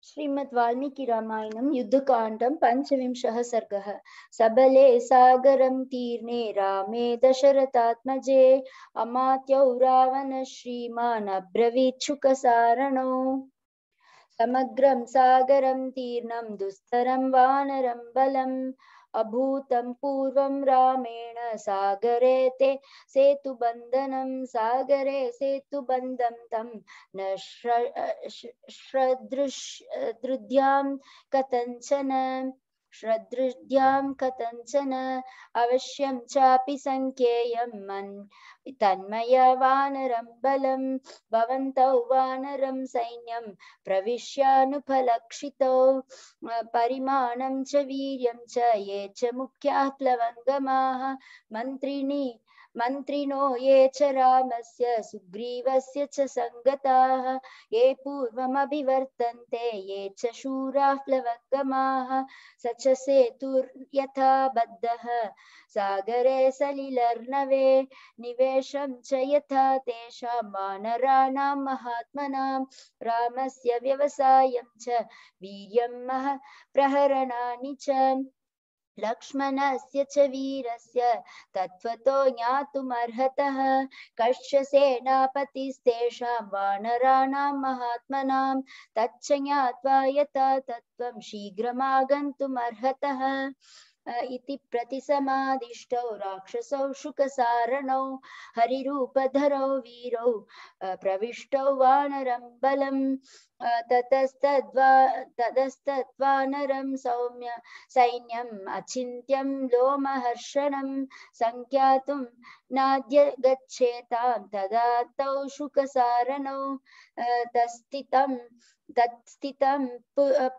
श्रीमद् वाल्मीकि रामायणं युद्धकाण्डं पंचविंशः सर्गः। सबले सागरं तीर्णे रामे दशरथात्मजे अमात्यौ रावण श्रीमान् अब्रवीच्छुकसारणो। समग्रं सागरं तीर्णं दुस्तरं वानरं बलम् अभूतं पूर्वं रामेण सागरे ते सेतुबन्धनं सागरे सेतुबन्धं तं न श्रदृद्यां कथञ्चन अवश्यं चापि संख्येयं तन्मया वानरं बलं भवन्तौ वानरं सैन्यं प्रविश्यानुपलक्षितौ परिमाणं च वीर्यं च ये च मुख्याः प्लवङ्गमाः मन्त्रिणो ये च रामस्य सुग्रीवस्य च संगताः ये पूर्वमभिवर्तन्ते ये च शूराः प्लवङ्गमाः स च सेतुर्यथा बद्धः सागरे सलिलर्णवे निवेशं च यथा तेषां वानराणां महात्मनां रामस्य व्यवसायं च वीर्यं प्रहरणानि च लक्ष्मणस्य च वीरस्य तत्त्वतो ज्ञातुमर्हतः कश्च सेनापतिस्तेषां वानराणां महात्मनां तच्च ज्ञात्वा यथा तत्त्वं शीघ्रमागन्तुमर्हतः इति प्रतिसमादिष्टौ राक्षसौ शुकसारणौ हरिरूपधरौ वीरौ प्रविष्टौ वानरं बलम् ततस्तद्वानरं सैन्यम् अचिन्त्यं लोमहर्षणं संख्यातुं नाद्य गच्छेतां तदा तौ शुकसारणौ तत्स्थितं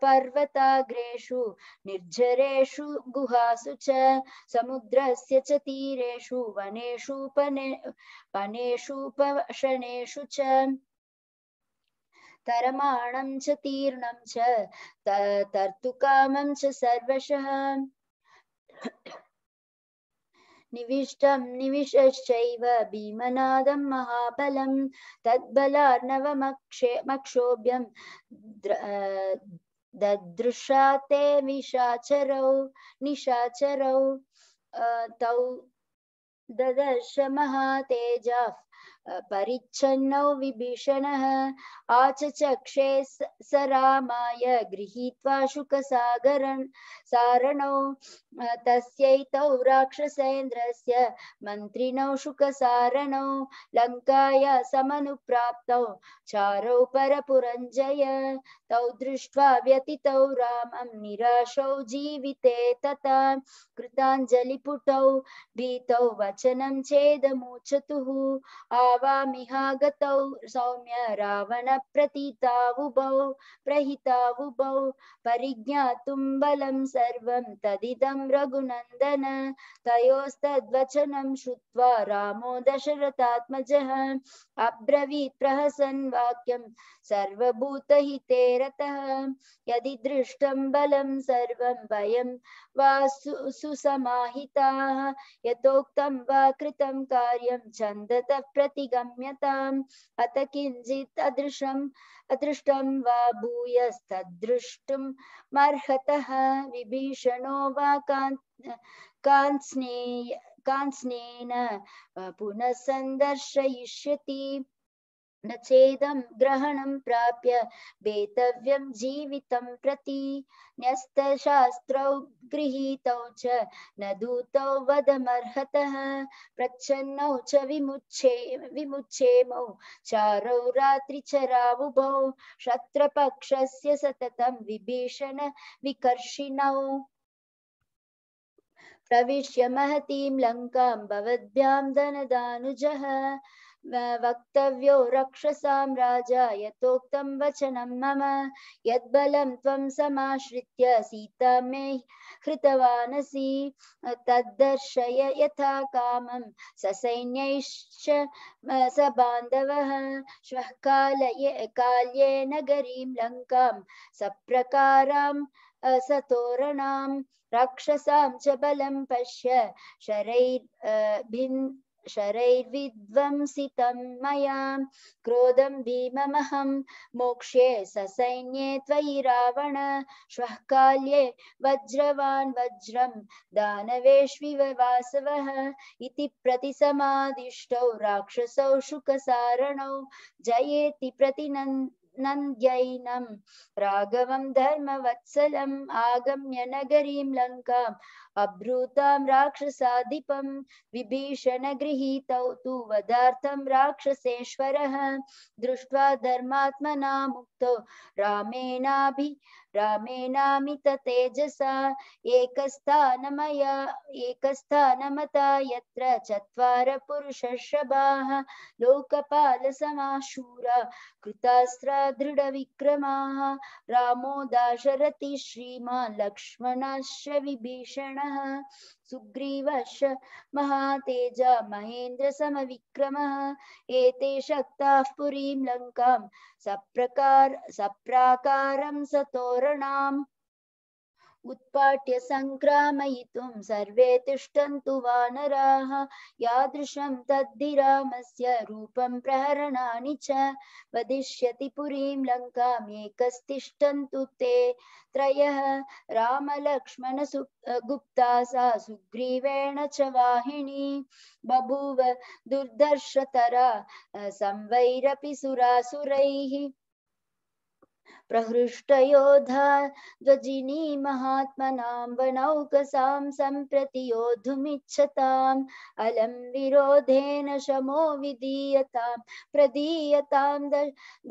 पर्वताग्रेषु निर्झरेषु गुहासु च समुद्रस्य च तीरेषु वनेषुपशनेषु च तरमाणं च तीर्णं च तर्तुकामं च सर्वशः निविशश्चैव भीमनादं महाबलं तद्बलार्णवमक्षोभ्यं ददृशा ते निशाचरौ तौ ददर्श महातेजाः परिच्छन्नौ विभीषणः आचचक्षे स रामाय गृहीत्वा शुकसारणौ तस्यैतौ राक्षसेन्द्रस्य मन्त्रिणौ शुकसारणौ लङ्काया समनुप्राप्तौ चारौ परपुरञ्जय तौ दृष्ट्वा व्यतितौ रामं निराशौ जीविते तथा कृताञ्जलिपुटौ भीतौ वचनं चेदमूचतुः आवामिहागतौ सौम्य प्रहितावुभौ परिज्ञातुं बलं सर्वं तदिदं रघुनन्दन तयोस्तद्वचनं श्रुत्वा रामो दशरथात्मजः अब्रवीत् प्रहसन् वाक्यं सर्वभूतहिते रतः यदि दृष्टं बलं सर्वं वयं वा सुसमाहिताः यथोक्तं वा कृतं कार्यं छन्दतः प्रतिगम्यताम् अत किञ्चित् अदृष्टं वा भूयस्तद्दृष्टुमर्हतः विभीषणो वा काञ्चनेन पुनः सन्दर्शयिष्यति न चेदं ग्रहणं प्राप्य वेतव्यं जीवितं प्रति न्यस्तशास्त्रौ गृहीतौ च न दूतौ वदमर्हतः प्रच्छन्नौ च विमुच्छेमौ चारौ रात्रिचरावुभौ शत्रपक्षस्य सततं विभीषण विकर्षिणौ प्रविश्य महतीं लङ्कां भवद्भ्यां धनदानुजः वक्तव्यो रक्षसां राजा यथोक्तं वचनं मम यद्बलं त्वं समाश्रित्य सीता मे हृतवानसि तद्दर्शय यथा कामं ससैन्यैश्च सबान्धवः श्वः काल्ये नगरीं लङ्कां सप्रकारां सतोरणां राक्षसां च बलं पश्य शरैर्विध्वंसितं मया क्रोधं भीममहं मोक्ष्ये ससैन्ये त्वयि रावण श्वः काल्ये वज्रवान् वज्रं दानवेष्विव वासवः इति प्रतिसमादिष्टौ राक्षसौ शुकसारणौ जयेति नन्द्यैनं राघवं धर्मवत्सलम् आगम्य नगरीं लङ्काम् अब्रूतां राक्षसाधिपं विभीषण गृहीतौ तु वधार्थं राक्षसेश्वरः दृष्ट्वा धर्मात्मना मुक्तो रामेणामित तेजसा एकस्थानमता यत्र चत्वार पुरुषर्षभाः लोकपालसमाशूरा कृतास्त्रा दृढविक्रमाः रामो दाशरथि श्रीमान् लक्ष्मणश्च विभीषणः सुग्रीवश्च महातेजा महेन्द्रसमविक्रमः एते शक्ताः पुरीं लङ्कां सप्राकारं सतोरणाम् उत्पाट्य सङ्क्रामयितुं सर्वे तिष्ठन्तु वानराः यादृशं तद्धि रामस्य रूपं प्रहरणानि च वदिष्यति पुरीं लङ्काम् एकस्तिष्ठन्तु ते त्रयः रामलक्ष्मण गुप्ता सा सुग्रीवेण च वाहिनी बभूव दुर्धर्षतरा संवैरपि सुरासुरैः प्रहृष्टयोधा ध्वजिनी महात्मनां वनौकसां सम्प्रति योद्धुमिच्छताम् अलं विरोधेन शमो प्रदीयतां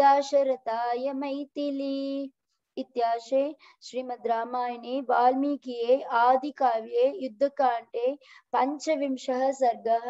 दाशरथाय मैथिली। इत्याशे श्रीमद् रामायणे वाल्मीकिये आदिकाव्ये युद्धकाण्डे 15 सर्गः।